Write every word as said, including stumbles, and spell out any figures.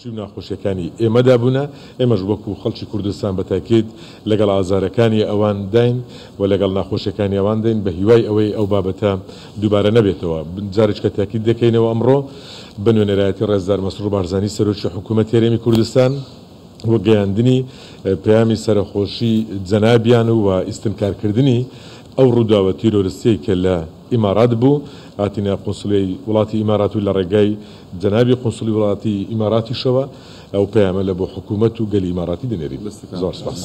و ناخۆشیەکانی ئێمەدا بوونە. ئێمەش وەکو خەڵکی کوردستان بە تاکید لەگەڵ ئازارەکانی ئەوان داین و لەگەڵ ناخۆشیەکانی ئەوان داین، بە هیوای ئەوەی ئەو بابەتە دووبارە نەبێتەوە. جارێککە تاکید دەکەینەوە ئەمڕۆ بە نوێنەرایەتی ڕێزدار مەسرور بارزانی سەرۆکی حکوومەتی هەرێمی کوردستان و گەیاندنی پەیامی سەرەخۆشی جەنابیان و ئیستنکارکردنی ئەو ڕووداوە تیرۆریستیەی کە لە ئیمارات بوو، هاتینە قونسڵیەی وڵاتی ئیمارات و لە ڕێگای جەنابی قونسڵی وڵاتی ئیماراتیشەوە ئەو پەیامە لە بۆ حکوومەت و گەلی ئیماراتی دەنێرین. زۆر سپاس.